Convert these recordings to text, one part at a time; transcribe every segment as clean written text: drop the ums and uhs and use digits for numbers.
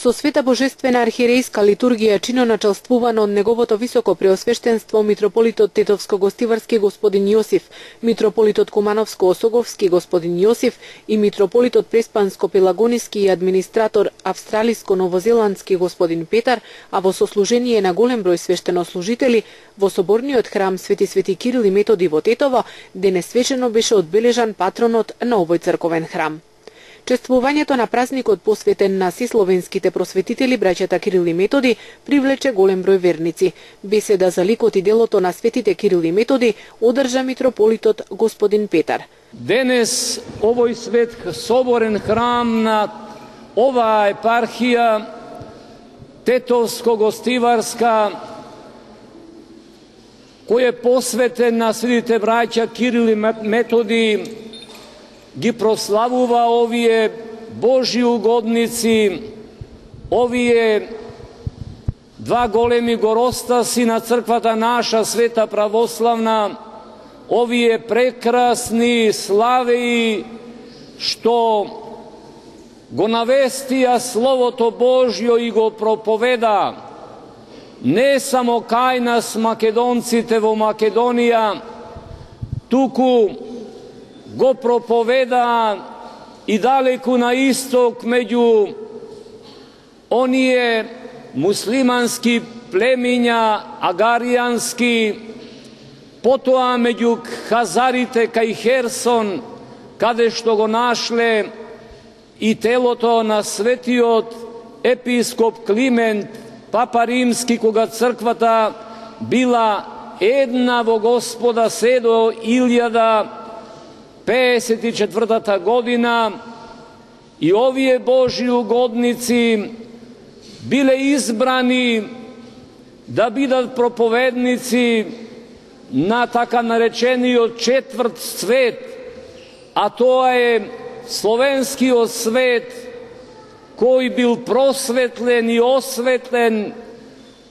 Со света божествена архиерејска литургија чиноначалствувано од неговото високо преосвештенство митрополитот Тетовско-Гостиварски господин Јосиф, митрополитот Кумановско-Осоговски господин Јосиф и митрополитот Преспанско-Пелагониски и администратор Австралиско-Новозеландски господин Петар, а во сослужение на голем број свештенослужители во соборниот храм Свети Кирил и Методи во Тетово, денес свечено беше одбележан патронот на овој црковен храм. Чествувањето на празникот посветен на сисловенските просветители браќата Кирил и Методи привлече голем број верници. Беседа за ликот и делото на светите Кирил и Методи одржа митрополитот господин Петар. Денес овој свет соборен храм на оваа епархија Тетовско-Гостиварска, кој е посветен на светите браќа Кирил и Методи, ги прославува овие Божји угодници, овие два големи горостаси на црквата наша света православна, овие прекрасни славеи што го навестија Словото Божјо и го проповеда не само кај нас македонците во Македонија, туку го проповеда и далеку на исток меѓу оние муслимански племиња агаријански, потоа меѓу хазарите кај Херсон, каде што го нашле и телото на светиот епископ Климент, папа римски, кога црквата била една во Господа се до 1054 година, и овие Божји угодници биле избрани да бидат проповедници на така наречениот четврт свет, а тоа е словенскиот свет, кој бил просветлен и осветлен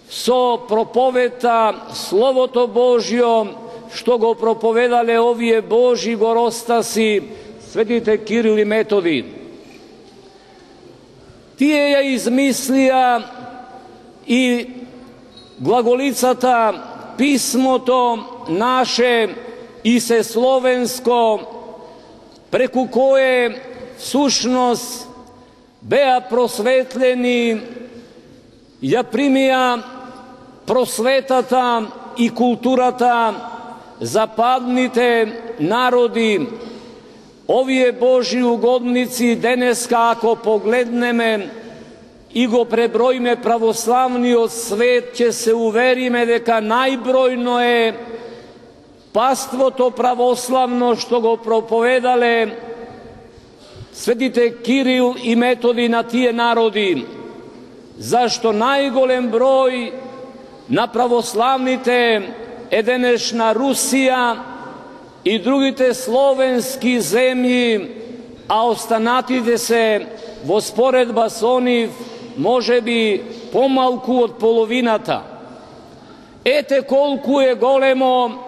со проповета Словото Божјо, што го проповедале овие Божји горостаси, светите Кирил и Методи. Тие ја измислија и глаголицата, писмото наше и се словенско, преку кое всушност беа просветлени, ја примија просветата и културата западните народи. Овие Божји угодници денеска, ако погледнеме и го преброиме православниот свет, ќе се увериме дека најбројно е паството православно што го проповедале светите Кирил и Методи на тие народи, зашто најголем број на православните е денешна Русија и другите словенски земји, а останатите се во споредба со нив можеби помалку од половината. Ете колку е големо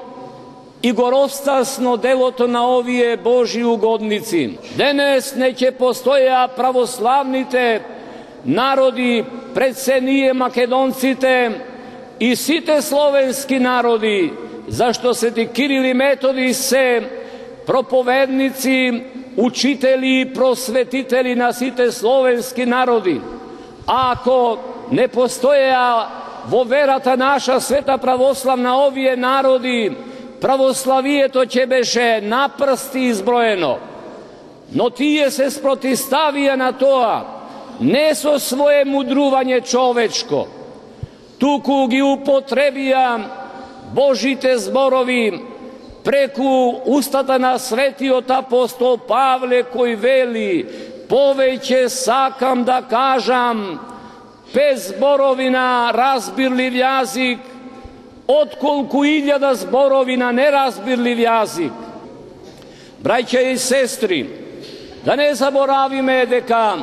и горостасно делото на овие Божји угодници. Денес не ќе постоја православните народи пред се ние македонците и сите словенски народи, зашто свети Кирил и Методи се проповедници, учители и просветители на сите словенски народи. А ако не постоја во верата наша света православна овие народи, православието ќе беше на прсти изброено. Но тие се спротивставија на тоа, не со свое мудрување човечко, туку ги употребија Божите зборови преку устата на светиот апостол Павле, кој вели: повеќе сакам да кажам без зборови на разбирлив јазик, отколку 1000 зборови на неразбирлив јазик. Браќа и сестри, да не заборавиме дека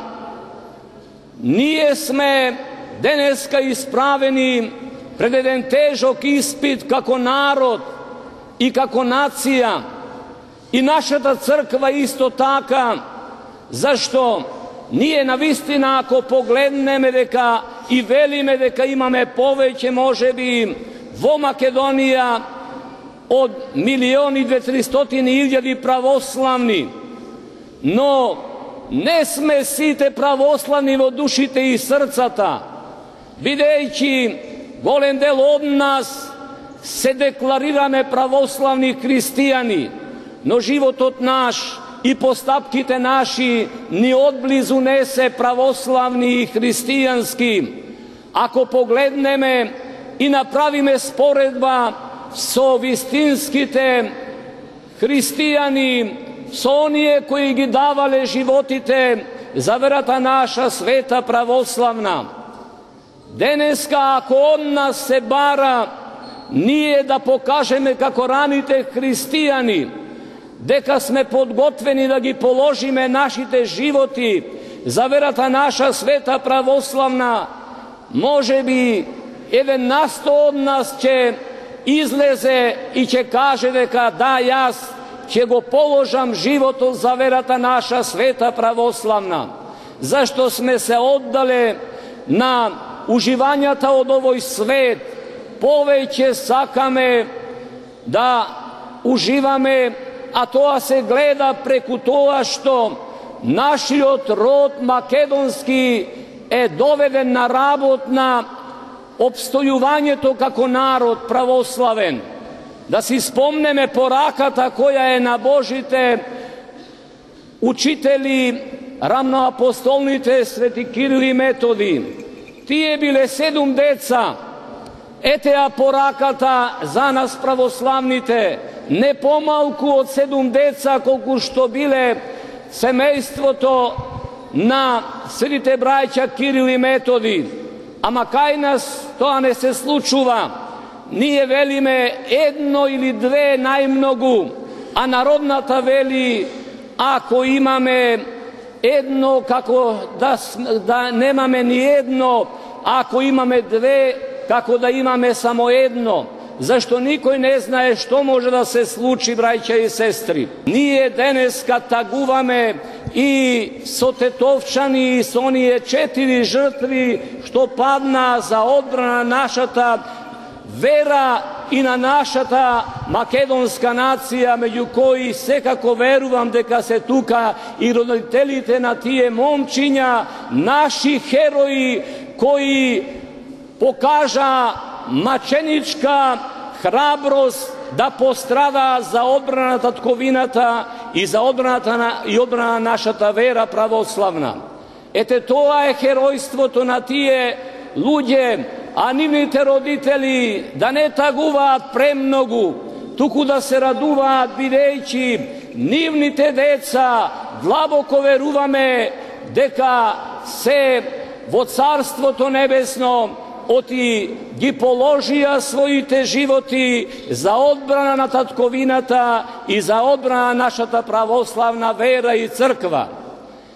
ние сме денеска исправени пред еден тежок испит како народ и како нација, и нашата црква исто така, зашто ние навистина ако погледнеме дека и велиме дека имаме повеќе можеби во Македонија од 1.200.000 православни, но не сме сите православни во душите и срцата, бидејќи голем дел од нас се декларираме православни христијани, но животот наш и постапките наши ни одблизу не се православни и христијански. Ако погледнеме и направиме споредба со вистинските христијани, со оние кои ги давале животите за верата наша света православна, денеска ако од нас се бара ние да покажеме како раните христијани дека сме подготвени да ги положиме нашите животи за верата наша света православна, може би еден насто од нас ќе излезе и ќе каже дека да, јас ќе го положам животот за верата наша света православна, зашто сме се оддале на уживањата од овој свет, повеќе сакаме да уживаме, а тоа се гледа преку тоа што нашиот род македонски е доведен на работ на обстојувањето како народ православен. Да си спомнеме пораката која е на Божите учители, рамноапостолните свети Кирил и Методи. Тие биле 7 деца. Етеа пораката за нас православните, не помалку од 7 деца колку што биле семејството на светите браќа Кирил и Методи. Ама кај нас тоа не се случува. Ние велиме едно или две најмногу, а народната вели ако имаме едно, како да немаме ни едно, ако имаме две, како да имаме само едно. Зашто никој не знае што може да се случи, браќа и сестри. Ние денеска тагуваме и со тетовчани и со оние 4 жртви што падна за одбрана нашата вера и на нашата македонска нација, меѓу кои секако верувам дека се тука и родителите на тие момчиња, наши херои кои покажа маченичка храброст да пострада за одбрана на татковината и за одбрана на нашата вера православна. Ете тоа е херојството на тие луѓе, а нивните родители да не тагуваат премногу, туку да се радуваат бидејќи нивните деца длабоко веруваме дека се во Царството Небесно оти ги положија своите животи за одбрана на татковината и за одбрана на нашата православна вера и црква.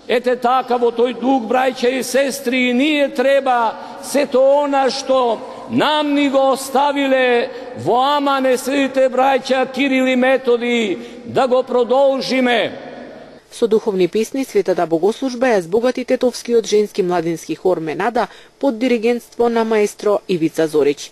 Ете така во тој дух, браќа и сестри, ние треба сето она што нам ни го оставиле во Амане светите браќа Кирил и Методи да го продолжиме. Со духовни песни светата богослужба ја збогати тетовскиот женски младински хор Менада под диригентство на маестро Ивица Зорич.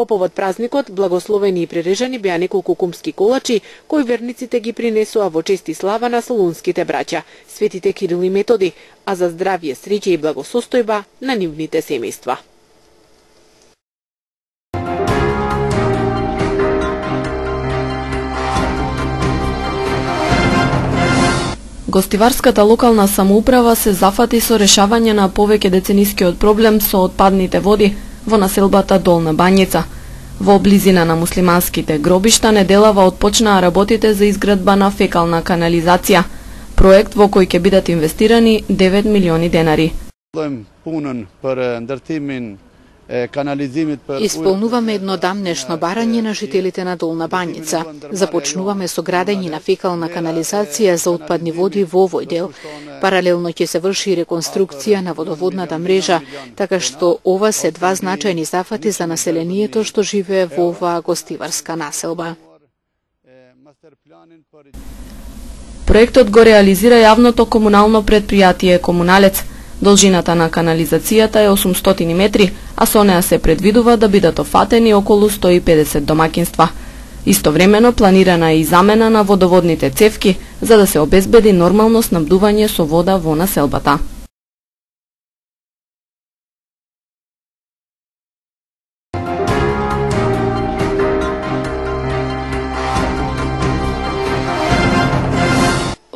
По повод празникот, благословени и прережани беа неколку кумски колачи, кои верниците ги принесоа во чест и слава на солунските браќа, светите Кирил и Методи, а за здравје, среќа и благосостојба на нивните семејства. Гостиварската локална самоуправа се зафати со решавање на повеќе деценискиот проблем со отпадните води во населбата Долна Бањица. Во близина на муслиманските гробишта неделава отпочнаа работите за изградба на фекална канализација, проект во кој ќе бидат инвестирани 9 милиони денари. Исполнуваме едно дамнешно барање на жителите на Долна Бањица. Започнуваме со градење на фекална канализација за отпадни води во овој дел. Паралелно ќе се врши реконструкција на водоводната мрежа, така што ова се два значајни зафати за населението што живее во оваа гостиварска населба. Проектот го реализира јавното комунално претпријатие Комуналец. Должината на канализацијата е 800 метри, а со неа се предвидува да бидат офатени околу 150 домакинства. Истовремено планирана е и замена на водоводните цевки за да се обезбеди нормално снабдување со вода во населбата.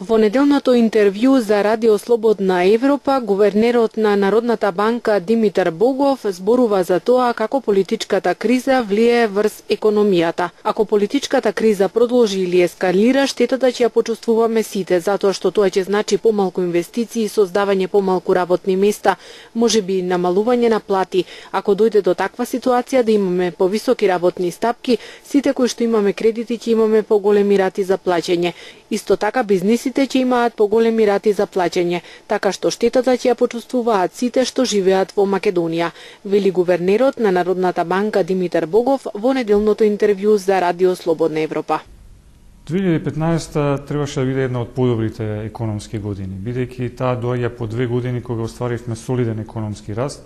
Во неделното интервју за Радио Слободна Европа, гувернерот на Народната банка Димитар Богов зборува за тоа како политичката криза влие врз економијата. Ако политичката криза продолжи или ескалира, штетата ќе ја почувствуваме сите, затоа што тоа ќе значи помалку инвестиции, создавање помалку работни места, можеби намалување на плати. Ако дојде до таква ситуација да имаме повисоки работни стапки, сите кои што имаме кредити ќе имаме поголеми рати за плаќање. Исто така бизнисите ќе имаат поголеми рати за плаќање, така што штетата ќе ја почувствуваат сите што живеат во Македонија, вели гувернерот на Народната банка Димитар Богов во неделното интервју за Радио Слободна Европа. 2015 требаше да биде една од подобрите економски години, бидејќи таа доаѓа по 2 години кога остваривме солиден економски раст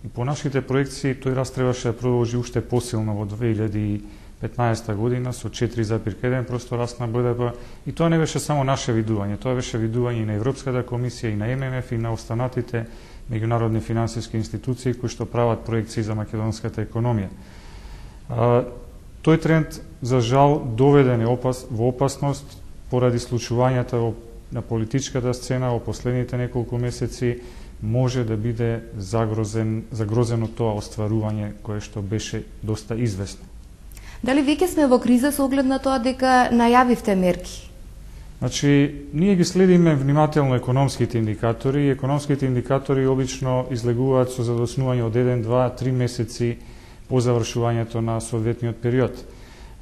и по нашите проекции тој раст требаше да продолжи уште посилно во 2015 година со 4,1% раст на БДП и тоа не беше само наше видување, тоа беше видување и на Европската комисија и на ММФ и на останатите меѓународни финансиски институции кои што прават проекции за македонската економија. Тој тренд за жал доведен во опасност поради случувањата на политичката сцена во последните неколку месеци, може да биде загрозено тоа остварување кое што беше доста известно. Дали веќе сме во криза со оглед на тоа дека најавивте мерки? Значи, ние ги следиме внимателно економските индикатори и економските индикатори обично излегуваат со задоснување од 1, 2, 3 месеци по завршувањето на соодветниот период.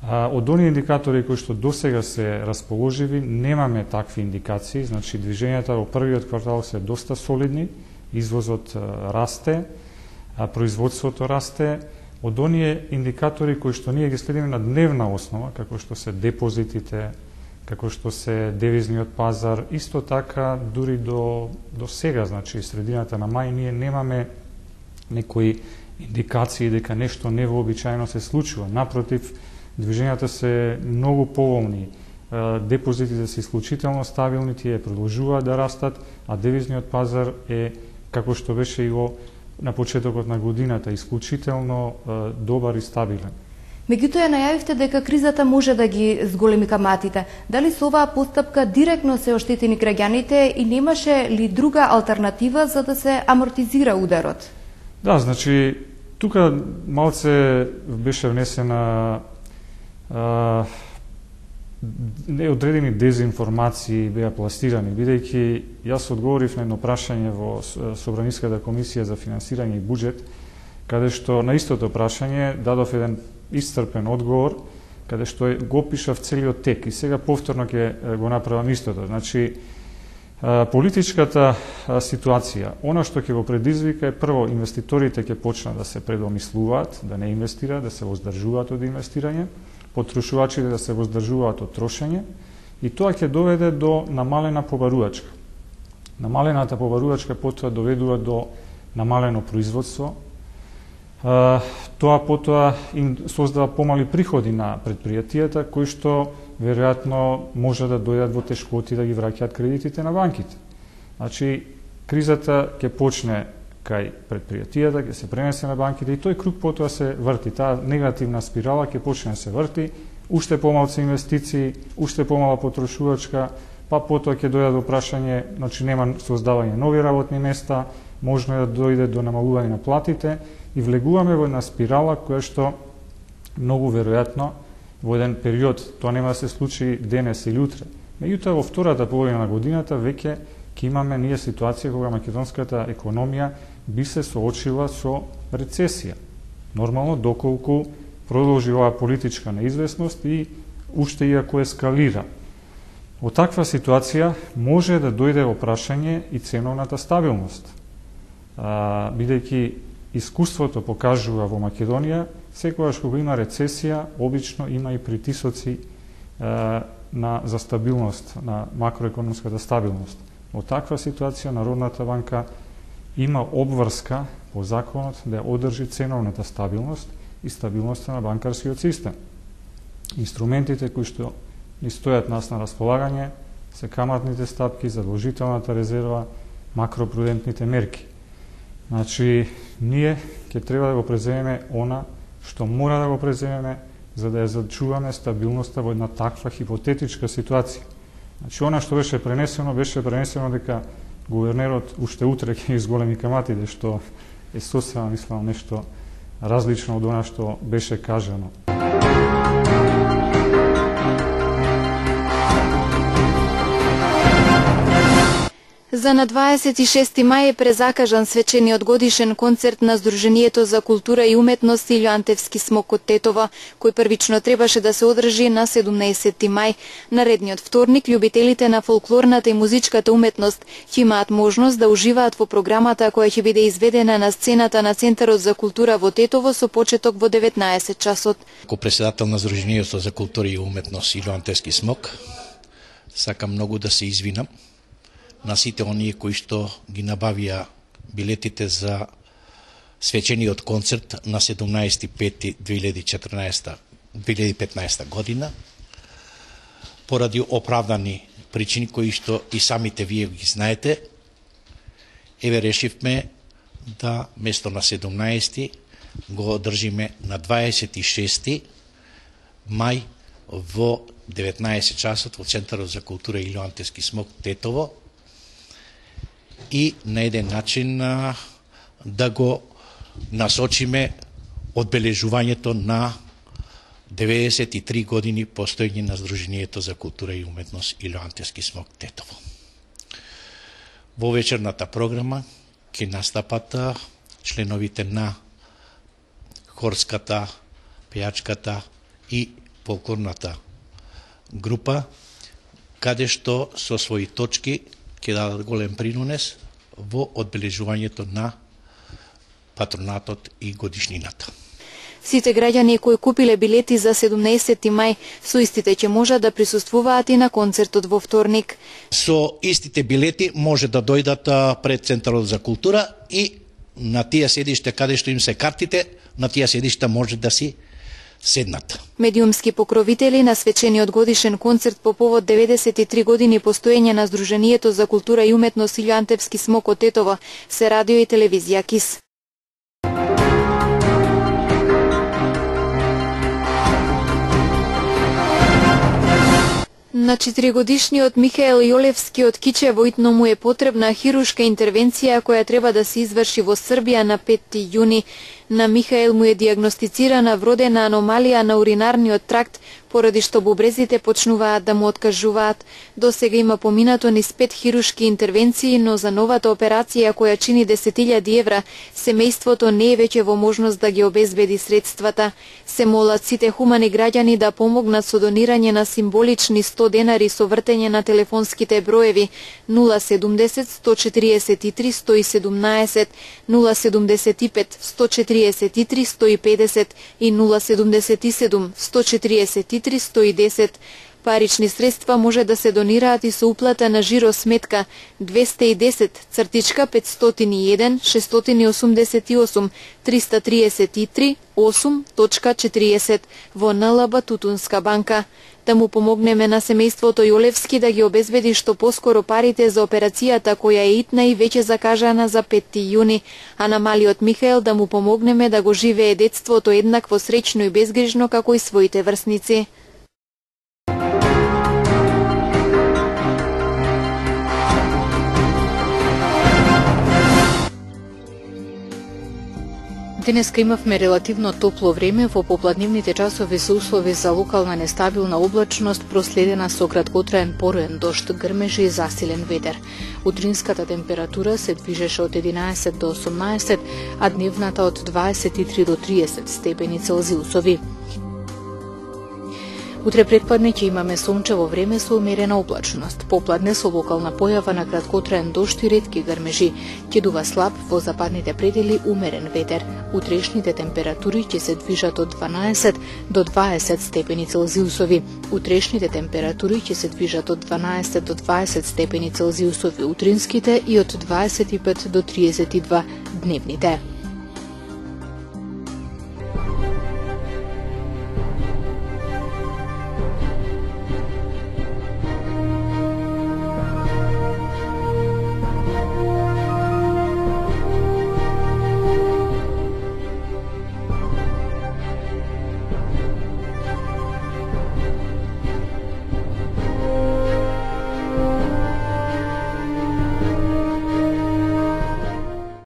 Од оние индикатори кои што досега се расположиви, немаме такви индикации, значи движењата во првиот квартал се доста солидни, извозот расте, производството расте. Од оние индикатори кои што ние ги следиме на дневна основа, како што се депозитите, како што се девизниот пазар, исто така дури до сега, значи средината на мај, ние немаме некои индикации дека нешто невообичаено се случува. Напротив, движењата се многу поволни, депозитите се исклучително стабилни, тие продолжуваат да растат, а девизниот пазар е, како што беше и на почетокот на годината, исклучително добар и стабилен. Меѓутоа најавивте дека кризата може да ги зголеми каматите. Дали со оваа постапка директно се оштетени граѓаните и немаше ли друга алтернатива за да се амортизира ударот? Да, значи, тука малце беше внесена неодредени дезинформации беа пластирани, бидејќи јас одговорив на едно прашање во Собраниската комисија за финансирање и буџет, каде што на истото прашање дадов еден исцрпен одговор, каде што го опишав целиот тек и сега повторно ќе го направам истото. Значи, политичката ситуација, она што ќе го предизвика е прво инвеститорите ќе почнат да се предомислуваат, да не инвестираат, да се воздржуваат од инвестирање, потрошувачите да се воздржуваат од трошење и тоа ќе доведе до намалена побарувачка. Намалената побарувачка потоа доведува до намалено производство, Тоа потоа им создава помали приходи на предпријатијата, кои што веројатно може да дојдат во тешкоти да ги враќаат кредитите на банките. Значи, кризата ќе почне кај предпријатијата, ќе се пренесе на банките и тој круг потоа се врти. Таа негативна спирала ќе почне да се врти, уште помалку инвестиции, уште помала потрошувачка, па потоа ќе дојде до прашање, значи нема создавање нови работни места, можно е да дојде до намалување на платите и влегуваме во една спирала која што многу веројатно во еден период, тоа нема да се случи денес или утре. Меѓутоа во втората половина на годината веќе ќе имаме ние ситуација кога македонската економија би се соочила со рецесија. Нормално доколку продолжи оваа политичка неизвестност и уште иако ескалира. Од таква ситуација може да дојде во прашање и ценовната стабилност. Бидејќи искуството покажува во Македонија, секогаш кога има рецесија, обично има и притисоци за стабилност, на макроекономската стабилност. Во таква ситуација Народната банка има обврска по законот да одржи ценовната стабилност и стабилноста на банкарскиот систем. Инструментите кои што ни стојат нас на располагање се каматните стапки, задолжителната резерва, макропрудентните мерки. Значи, ние ќе треба да го преземеме она што мора да го преземеме за да ја зачуваме стабилноста во една таква хипотетичка ситуација. Значи, она што беше пренесено дека гувернерот уште утре ќе изголеми каматите, што е сосема, мислам, нешто различно од она што беше кажано. За на 26. мај е презакажан свечениот годишен концерт на Сдруженијето за култура и уметност Илјоантевски смок од Тетово, кој првично требаше да се одржи на 17. мај. Наредниот вторник, љубителите на фолклорната и музичката уметност ќе имаат можност да уживаат во програмата која ќе биде изведена на сцената на Центарот за култура во Тетово со почеток во 19 часот. Како председател на Сдруженијето за култура и уметност Илјоантевски смок, сакам многу да се извинам на сите оние кои што ги набавија билетите за свечениот концерт на 17.5.2015 година, поради оправдани причини кои што и самите вие ги знаете. Еве решивме да место на 17 го одржиме на 26 мај во 19 часот во Центарот за култура Илјоантевски смок Тетово, и на еден начин да го насочиме одбележувањето на 93 години постоење на Сдруженијето за култура и уметност Илјоантевски смок Тетово. Во вечерната програма ќе настапат членовите на хорската, пејачката и фолклорната група, каде што со своји точки ќе дадат голем принос во одбележувањето на патронатот и годишнината. Сите граѓани кои купиле билети за 17. мај со истите ќе можат да присуствуваат и на концертот во вторник. Со истите билети може да дојдат пред Центарот за култура и на тие седиште каде што им се картите, на тие седишта може да си седнат. Медиумски покровители на свечениот годишен концерт по повод 93 години постоење на Сдруженијето за култура и уметност Илјоантевски смок од Тетово се радио и телевизија КИС. На 4-годишниот Михаел Јолевски од Кичево му е потребна хирушка интервенција која треба да се изврши во Србија на 5 јуни. На Михаел му е диагностицирана вродена аномалија на уринарниот тракт, поради што бубрезите почнуваат да му откажуваат. До сега има поминато низ 5 хирушки интервенции, но за новата операција која чини 10.000 евра, семејството не е веќе во можност да ги обезбеди средствата. Се молат сите хумани граѓани да помогнат со донирање на символични 100 денари со вртење на телефонските броеви 070 143 117, 075 143 150 и 077 143 110. Парични средства може да се донираат и со уплата на жиро сметка 210-501 688 333 8.40 во НЛБ Тутунска банка. Да му помогнеме на семејството Јолевски да ги обезбеди што поскоро парите за операцијата која е итна и веќе закажана за 5 јуни, а на малиот Михаел да му помогнеме да го живее детството еднакво среќно и безгрижно како и своите врсници. Денеска имавме релативно топло време, во попладневните часови се услови за локална нестабилна облачност, проследена со краткотраен пороен дожд, грмежи и засилен ветер. Утринската температура се движеше од 11 до 18, а дневната од 23 до 30 степени Целзиусови. Утре предпладне ќе имаме сончево време со умерена облачност. Попладне со локална појава на краткотраен дожд и ретки грмежи. Ќе дува слаб во западните предели умерен ветер. Утрешните температури ќе се движат од 12 до 20 степени Целзиусови. Утрешните температури ќе се движат од 12 до 20 степени Целзиусови утринските и од 25 до 32 дневните.